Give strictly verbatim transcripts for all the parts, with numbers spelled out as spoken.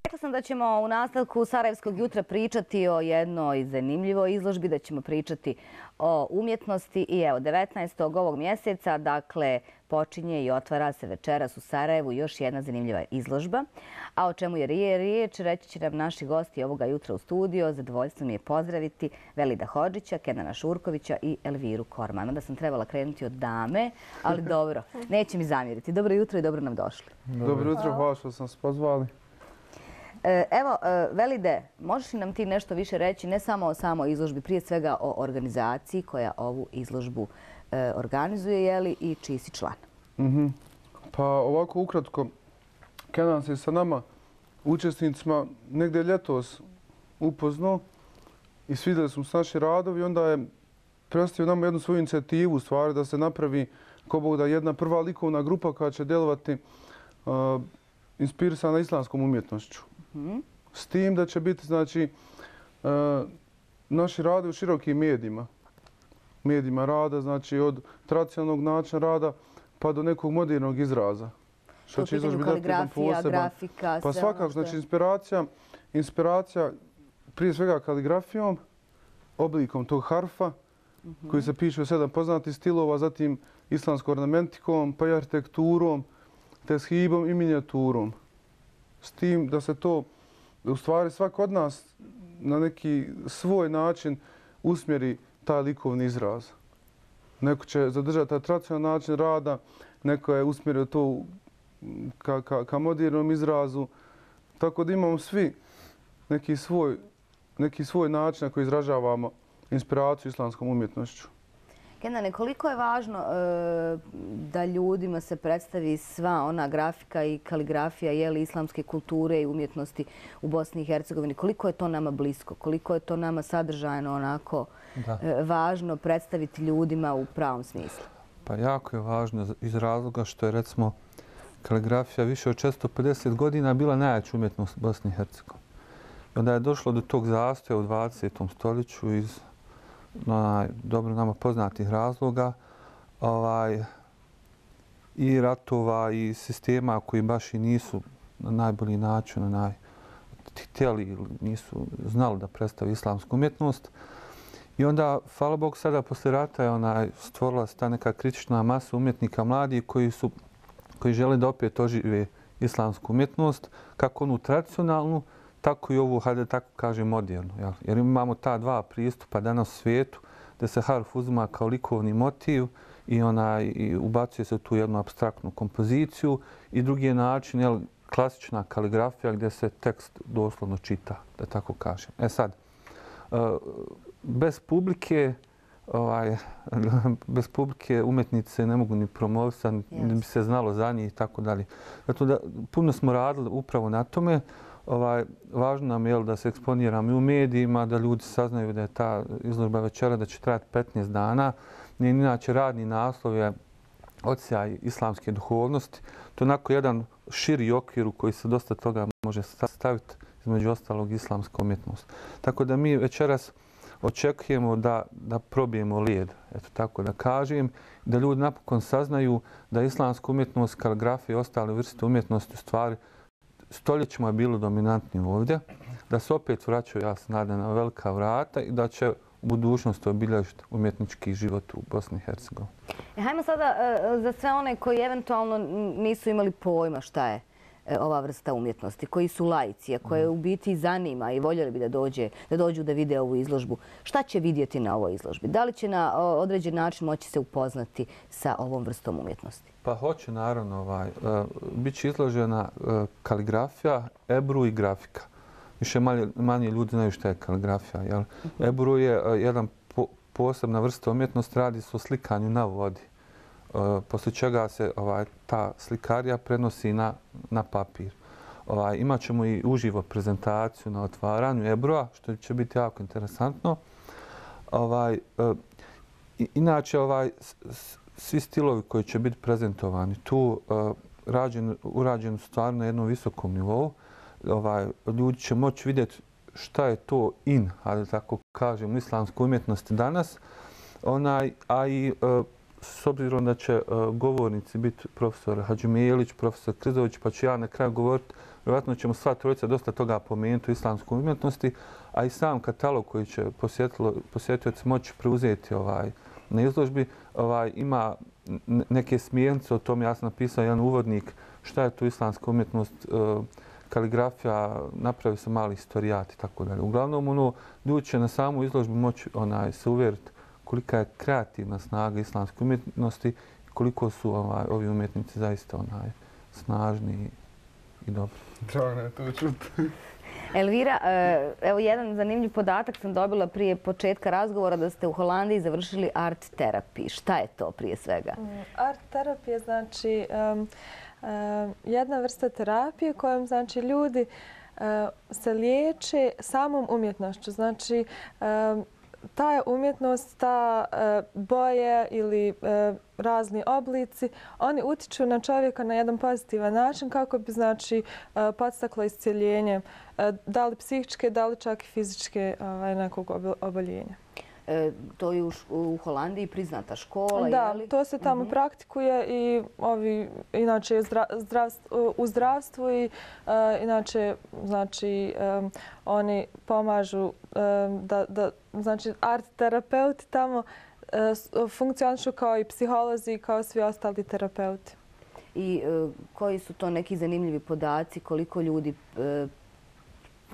Rekla sam da ćemo u nastavku Sarajevskog jutra pričati o jednoj zanimljivoj izložbi, da ćemo pričati o umjetnosti i evo devetnaestog ovog mjeseca, dakle, počinje i otvara se večeras u Sarajevu još jedna zanimljiva izložba. A o čemu je riječ, reći će nam naši gosti ovoga jutra u studio. Zadovoljstvo mi je pozdraviti Velida Hodžića, Kenana Šurkovića i Elviru Korman. Onda sam trebala krenuti od dame, ali dobro, neće mi zamjeriti. Dobro jutro i dobro nam došli. Dobro jutro, hvala što sam se pozvali. Evo, Velide, možeš li nam ti nešto više reći, ne samo o samoj izložbi, prije svega o organizaciji koja ovu izložbu organizuje, je li, i čiji si član? Pa ovako ukratko, Kenan se sa nama, učesnicima, negdje ljetos upoznao i svidjeli smo s naši radovi. Onda je predstavio nama jednu svoju inicijativu, u stvari, da se napravi ko Bog da jedna prva likovna grupa koja će djelovati inspirisana islamskom umjetnošću. S tim da će biti, znači, naši rade u širokim medijima. Medijima rada, znači od tradicionalnog načina rada pa do nekog modernog izraza. Što će izložbi dati jedan poseban. Grafika, pa svakako, znači inspiracija, inspiracija prije svega kaligrafijom, oblikom tog harfa, koji se piše u sedam poznatih stilova, zatim islamskom ornamentikom, pa i arhitekturom, teshibom i minijaturom. S tim da se to, u stvari, svak od nas na neki svoj način usmjeri taj likovni izraz. Neko će zadržati taj tradicionalni način rada, neko je usmjerio to ka, ka, ka modernom izrazu. Tako da imamo svi neki svoj, neki svoj način na koji izražavamo inspiraciju islamskom umjetnošću. Kenane, koliko je važno e, da ljudima se predstavi sva ona grafika i kaligrafija jeli, islamske kulture i umjetnosti u Bosni i Hercegovini? Koliko je to nama blisko? Koliko je to nama sadržajno onako e, važno predstaviti ljudima u pravom smislu? Pa jako je važno iz razloga što je, recimo, kaligrafija više od često pedeset godina bila najjača umjetnost u Bosni i Hercegovini. I onda je došlo do tog zastoja u dvadesetom stoljeću iz na dobro nama poznatih razloga ovaj, i ratova i sistema koji baš i nisu na najbolji način na naj, htjeli ili nisu znali da predstavi islamsku umjetnost. I onda, hvala Bog, sada posle rata je onaj, stvorila se ta neka kritična masa umjetnika mladih koji, su, koji žele da opet ožive islamsku umjetnost, kako onu tradicionalnu, tako i ovu, hajde tako kažem, modernu. Jel? Jer imamo ta dva pristupa danas u svijetu, da se harf uzima kao likovni motiv i, onaj, i ubacuje se u tu jednu apstraktnu kompoziciju. I drugi je način, jel, klasična kaligrafija gdje se tekst doslovno čita, da tako kažem. E sad, bez publike, ovaj, bez publike umjetnice ne mogu ni promovisati, ni bi se znalo za njih i tako dalje. Zato da puno smo radili upravo na tome. Ovaj, važno nam je da se eksponiramo i u medijima, da ljudi saznaju da je ta izložba večera da će trajati petnaest dana. Njen inače radni naslov je Odsjaj islamske duhovnosti. To je onako jedan širi okvir u koji se dosta toga može staviti, između ostalog islamska umjetnost. Tako da mi večeras očekujemo da, da probijemo lijed, eto tako da kažem, da ljudi napokon saznaju da islamska umjetnost, kaligrafija i ostale vrste umjetnosti u stvari stoljećima je bilo dominantni ovdje, da se opet vraćaju, ja se nadam, na velika vrata i da će u budućnosti obilježiti umjetnički život u Bosni i Hercegovini. E, hajmo sada uh, za sve one koji eventualno nisu imali pojma šta je uh, ova vrsta umjetnosti, koji su laici, a koje u biti zanima i voljeli bi da, dođe, da dođu da vide ovu izložbu. Šta će vidjeti na ovoj izložbi? Da li će na uh, određen način moći se upoznati sa ovom vrstom umjetnosti? Pa hoće, naravno. Ovaj, uh, Biće izložena uh, kaligrafija, ebru i grafika. Više manje, manje ljudi znaju šta je kaligrafija. Jel? Uh-huh. Ebru je uh, jedan po, posebna vrsta umjetnosti, radi se o slikanju na vodi. Uh, poslije čega se ovaj, ta slikarija prenosi na, na papir. Ovaj, imat ćemo i uživo prezentaciju na otvaranju ebrua, što će biti jako interesantno. Ovaj, uh, inače, ovaj, svi stilovi koji će biti prezentovani tu uh, rađen, urađeni stvarno na jednom visokom nivou. Ovaj, ljudi će moći vidjeti šta je to in, ali tako kažem, u islamskoj umjetnosti danas. Onaj, a i uh, s obzirom da će uh, govornici biti profesor Hadžimijelić, profesor Krizović, pa ću ja na kraju govoriti Vjerojatno ćemo sva trojica dosta toga pomenuti u islamskoj umjetnosti, a i sam katalog koji će posjetioci moći preuzeti ovaj, na izložbi ovaj, ima neke smjernice, o tom ja sam napisao jedan uvodnik šta je tu islamska umjetnost, kaligrafija, napravi se mali historijat i tako dalje. Uglavnom, ono, ljudi će na samu izložbu moći onaj, se uvjeriti kolika je kreativna snaga islamske umjetnosti i koliko su ovaj, ovi umjetnici zaista onaj, snažni i dobri. Drago je to čuti. Elvira, evo jedan zanimljiv podatak sam dobila prije početka razgovora da ste u Holandiji završili art terapiji. Šta je to prije svega? Art terapija znači um, um, jedna vrsta terapije kojom znači ljudi uh, se liječe samom umjetnošću. Znači um, ta je umjetnost, ta uh, boje ili uh, razni oblici, oni utiču na čovjeka na jedan pozitivan način kako bi znači uh, podstaklo iscjeljenje uh, da li psihičke, da li čak i fizičke uh, nekog oboljenja. E, to je u, u Holandiji priznata škola, da, je li? To se tamo uh-huh. praktikuje i ovi, inače zdra, zdravstvo, u zdravstvu i uh, inače znači um, oni pomažu um, da, da znači art terapeuti tamo uh, funkcionišu kao i psiholozi i kao svi ostali terapeuti. I uh, koji su to neki zanimljivi podaci, koliko ljudi uh,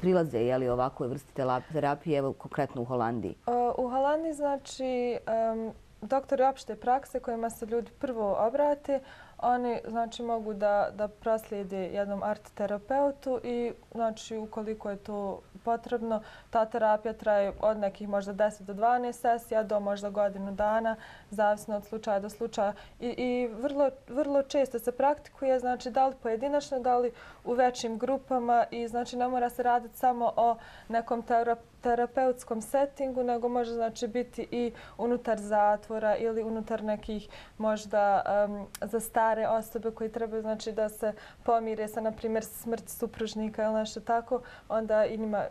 prilaze je li ovakvoj vrsti terapije, evo konkretno u Holandiji? U Holandiji znači um, doktori opšte prakse kojima se ljudi prvo obrate, oni znači mogu da, da proslijede jednom art terapeutu i znači ukoliko je to potrebno, ta terapija traje od nekih možda deset do dvanaest sesija do možda godinu dana, zavisno od slučaja do slučaja. I, i vrlo, vrlo često se praktikuje, znači da li pojedinačno, da li u većim grupama i znači ne mora se raditi samo o nekom terapeutu terapeutskom settingu, nego može znači biti i unutar zatvora ili unutar nekih možda um, za stare osobe koji trebaju znači da se pomire sa, na primjer, smrt supružnika ili nešto tako, onda i njima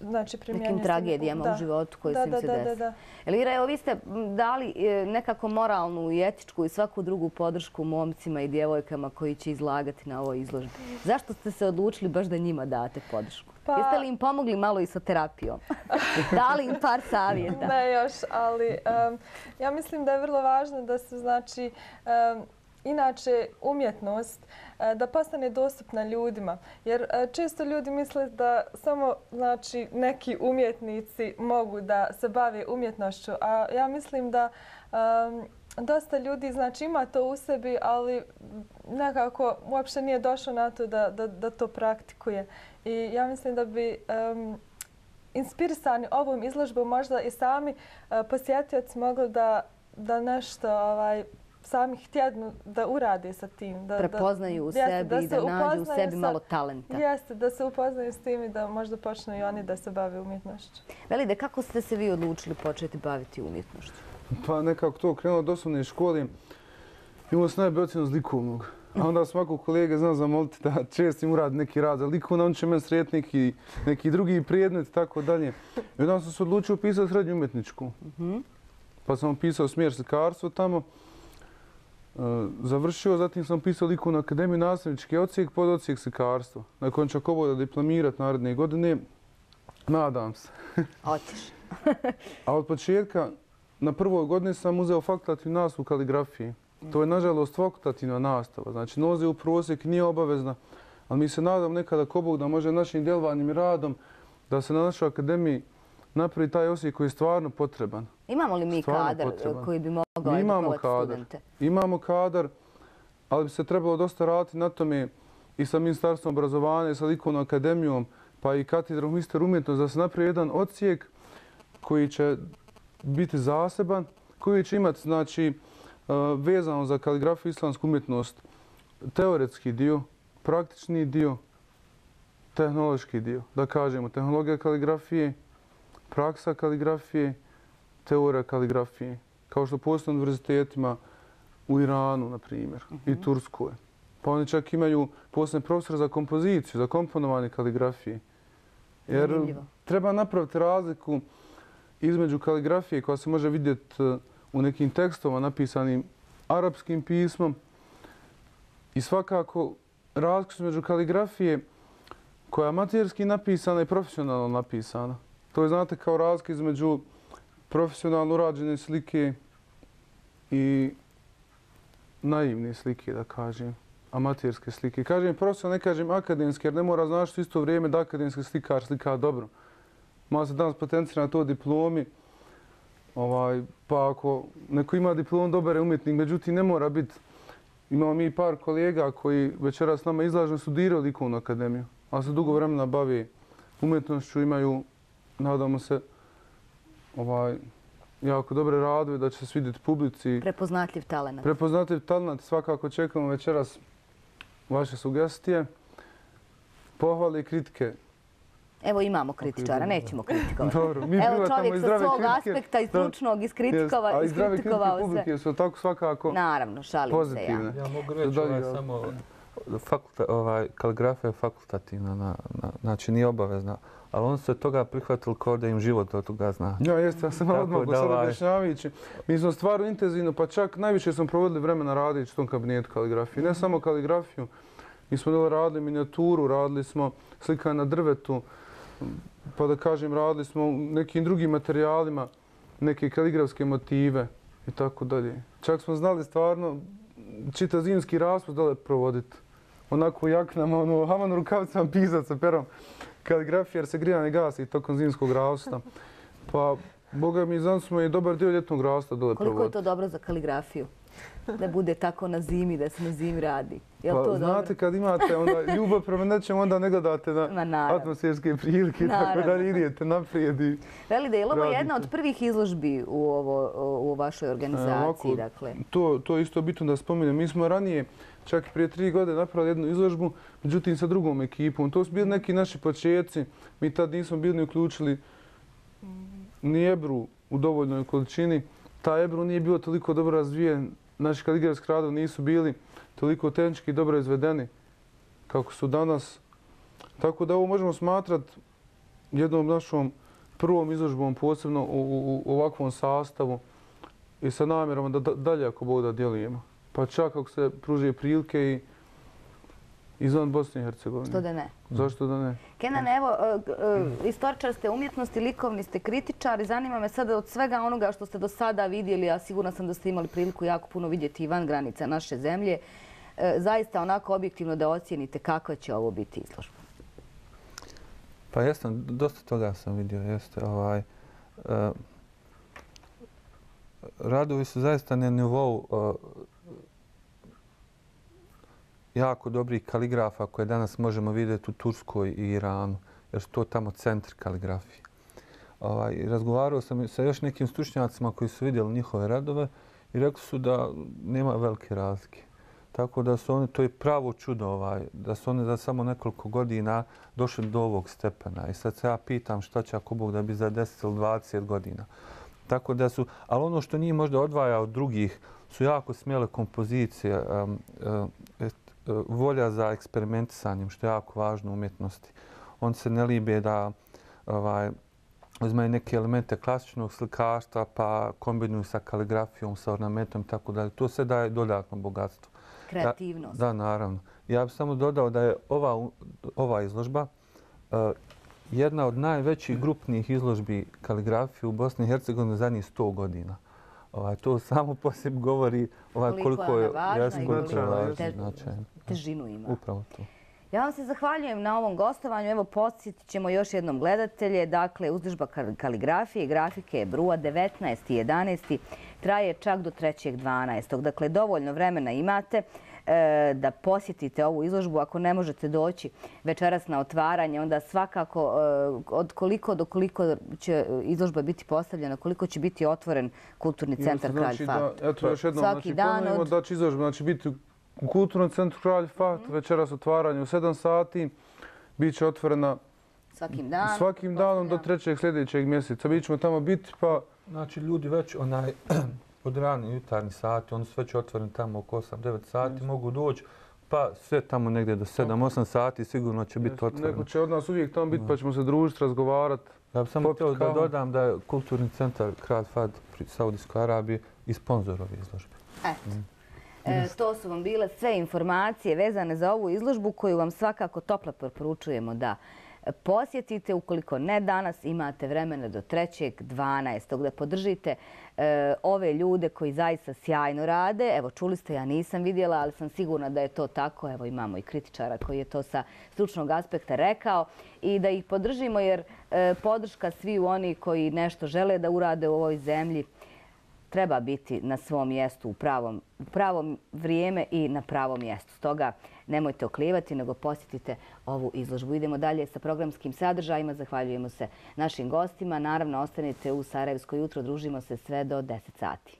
znači primjenjuje nekim tragedijama da. u životu koji da, su im da, se da, desili. da, da. Elvira, evo vi ste dali nekako moralnu i etičku i svaku drugu podršku momcima i djevojkama koji će izlagati na ovoj izložbi. Zašto ste se odlučili baš da njima date podršku? Pa... Jeste li im pomogli malo i sa terapijom? Dali im par savjeta? Ne još, ali um, ja mislim da je vrlo važno da se znači um, inače umjetnost uh, da postane dostupna ljudima. Jer uh, često ljudi misle da samo znači neki umjetnici mogu da se bave umjetnošću, a ja mislim da um, dosta ljudi znači ima to u sebi, ali nekako uopšte nije došlo na to da, da, da to praktikuje. I ja mislim da bi um, inspirisani ovom izložbom možda i sami uh, posjetioci mogli da, da nešto ovaj, sami htjednu da urade sa tim. Da, prepoznaju u sebi i da, da nađu u sebi sa, malo talenta. Jeste, da se upoznaju s tim i da možda počnu i oni da se bave umjetnošću. Velide, kako ste se vi odlučili početi baviti umjetnošću? Pa nekako to krenulo od osnovne škole. Imao sam najbolju ocjenu iz likovnog. A onda svakog kolege znam zamoliti da često im uradi neki rad za likovno, on će meni sretiti neki, neki drugi predmet i tako dalje. I onda sam se odlučio pisati srednju umjetničku. Pa sam pisao smjer slikarstvo tamo. Završio, zatim sam pisao likovnu akademiju, nastavnički odsjek, pod odsjek slikarstvo. Nakon ću ako da diplomirati naredne godine, nadam se. Hoćeš. A od početka, na prvoj godini sam uzeo fakultativnu nastavu kaligrafiji. To je, nažalost, fakultativna nastava. Znači, noze u prosjek nije obavezna, ali mi se nadam nekada ko Bog da može našim djelovanjem i radom da se na našoj akademiji napravi taj osjek koji je stvarno potreban. Imamo li mi stvarno kadar potreban. koji bi mogao edukovati studente? Imamo kadar, ali bi se trebalo dosta raditi na tome i sa Ministarstvom obrazovanja, i sa likovnom akademijom, pa i katedrom mister umjetnosti, da se napravi jedan odsjek koji će biti zaseban, koji će imati, znači, vezano za kaligrafiju i islamsku umjetnost, teoretski dio, praktični dio, tehnološki dio. Da kažemo, tehnologija kaligrafije, praksa kaligrafije, teorija kaligrafije. Kao što postoje na univerzitetima u Iranu, na primjer, i Turskoj. Pa oni čak imaju posebne profesore za kompoziciju, za komponovanje kaligrafije. Jer treba napraviti razliku između kaligrafije koja se može vidjeti u nekim tekstovima napisanim arapskim pismom i svakako razliku između kaligrafije koja je amaterski napisana i profesionalno napisana. To je, znate, kao razlika između profesionalno urađene slike i naivne slike, da kažem, amaterske slike. Kažem profesionalno, ne kažem akademske, jer ne mora znaš u isto vrijeme da akademski slikar slika dobro. Malo se danas potencira na to diplomi, ovaj, pa ako neko ima diplom, dobar je umjetnik, međutim ne mora biti. Imamo mi par kolega koji večeras s nama izlažu, studiraju likovnu akademiju, ali se dugo vremena bavi umjetnošću, imaju, nadamo se, ovaj, jako dobre radove, da će se svidjeti publici. Prepoznatljiv talent. Prepoznatljiv talent. Svakako čekamo večeras vaše sugestije, pohvale i kritike. Evo imamo kritičara, nećemo kritikovati. Dobro, mi Evo čovjek sa svog kritike. aspekta i stručnog iskritikovao sve. A i zdrave kritike publike su tako svakako Naravno, šalim se ja. Ja mogu reći ovaj, samo fakulta, ovaj, kaligrafija je fakultativna, na, na, znači nije obavezna. Ali oni su se toga prihvatili kao da im život od toga zna. Ja, jeste, ja sam odmah sad objašnjavajući. Mi smo stvarno intenzivno, pa čak najviše smo provodili vremena radići u tom kabinetu kaligrafije. Ne samo kaligrafiju, mi smo radili minijaturu, radili smo slika na drvetu, pa da kažem, radili smo nekim drugim materijalima, neke kaligrafske motive i tako dalje. Čak smo znali stvarno čitav zimski raspust da li provoditi. Onako u jaknama, ono, haman rukavicama pisat sa perom kaligrafije, jer se grijanje gasi tokom zimskog rasta. Pa, boga mi, znam smo i dobar dio ljetnog rasta dole provoditi. Koliko je to dobro za kaligrafiju? Da bude tako na zimi, da se na zimi radi. Je li to dobro? Znate, kad imate onda ljubav prema nečemu, onda ne gledate na atmosferske prilike, tako da idete naprijed. Veli da je li ovo jedna od prvih izložbi u, ovo, u vašoj organizaciji? Dakle. To, to je isto bitno da spominjem. Mi smo ranije, čak i prije tri godine, napravili jednu izložbu, međutim sa drugom ekipom. To su bili neki naši početci. Mi tad nismo bili ni uključili ni Ebru u dovoljnoj količini. Ta Ebru nije bilo toliko dobro razvijen. Naši kaligrafski radovi nisu bili toliko tehnički dobro izvedeni kako su danas. Tako da ovo možemo smatrati jednom našom prvom izložbom, posebno u, u, u ovakvom sastavu i sa namjerom da dalje ako Bog da djelujemo. Pa čak ako se pruže prilike i izvan Bosne i Hercegovine. Što da ne? Zašto da ne? Kenan, evo, istoričar ste umjetnosti, likovni ste kritičar i zanima me sada od svega onoga što ste do sada vidjeli, a sigurna sam da ste imali priliku jako puno vidjeti i van granica naše zemlje, zaista onako objektivno da ocijenite kakva će ovo biti izložba. Pa jesam, dosta toga sam vidio, jeste. Ovaj, uh, radovi su zaista na nivou uh, jako dobrih kaligrafa koje danas možemo vidjeti u Turskoj i Iranu, jer su to tamo centri kaligrafije. Ovaj, razgovarao sam sa još nekim stručnjacima koji su vidjeli njihove radove i rekli su da nema velike razlike. Tako da su oni, to je pravo čudo, ovaj, da su oni za samo nekoliko godina došli do ovog stepena. I sad se ja pitam šta će ako Bog da bi za deset ili dvadeset godina. Tako da su, ali ono što njih možda odvaja od drugih su jako smjele kompozicije, um, um, volja za eksperimentisanjem, što je jako važno u umjetnosti. On se ne libe da ovaj, uzmaju neke elemente klasičnog slikarstva pa kombinuju sa kaligrafijom, sa ornamentom i tako dalje. To sve daje dodatno bogatstvo. Kreativnost. Da, da, naravno. Ja bih samo dodao da je ova, ova izložba uh, jedna od najvećih grupnih izložbi kaligrafije u Bosni i Hercegovini zadnjih sto godina. Ovaj, to samo po sebi govori ovaj, koliko, koliko je važna i koliko je te, težinu ima. Upravo to. Ja vam se zahvaljujem na ovom gostovanju. Evo, podsjetit ćemo još jednom gledatelje. Dakle, izložba kaligrafije i grafike E B R U-a devetnaesti jedanaesti traje čak do trećeg dvanaestog Dakle, dovoljno vremena imate e, da posjetite ovu izložbu. Ako ne možete doći večeras na otvaranje, onda svakako e, od koliko do koliko će izložba biti postavljena, koliko će biti otvoren kulturni centar znači Kralj Fahd. Da, eto još jednom, Svaki znači, dan od... da će izložba znači, biti u Kulturnom centru Kralj Fahd, večeras otvaranje u sedam sati, bit će otvorena svakim, dan, svakim danom do trećeg sljedećeg mjeseca. Mi ćemo tamo biti pa... Znači ljudi već onaj, od rani jutarnji sati, oni su već otvoreni tamo oko osam devet sati, mm. mogu doći pa sve tamo negdje do sedam osam sati sigurno će biti otvoreno. Neko će od nas uvijek tamo biti pa ćemo se družiti, razgovarati. Ja bih samo htio da dodam da je Kulturni centar Kralj Fahd pri Saudijskoj Arabiji i sponzor ove izložbe. Eto. Mm. E, to su vam bile sve informacije vezane za ovu izložbu koju vam svakako toplo preporučujemo da posjetite. Ukoliko ne danas, imate vremena do trećeg dvanaestog da podržite e, ove ljude koji zaista sjajno rade. Evo, čuli ste, ja nisam vidjela, ali sam sigurna da je to tako. Evo, imamo i kritičara koji je to sa stručnog aspekta rekao. I da ih podržimo jer e, podrška svi oni koji nešto žele da urade u ovoj zemlji treba biti na svom mjestu u pravom, u pravom vrijeme i na pravom mjestu. Stoga nemojte oklijevati, nego posjetite ovu izložbu. Idemo dalje sa programskim sadržajima. Zahvaljujemo se našim gostima. Naravno, ostanite u Sarajevsko jutro. Družimo se sve do deset sati.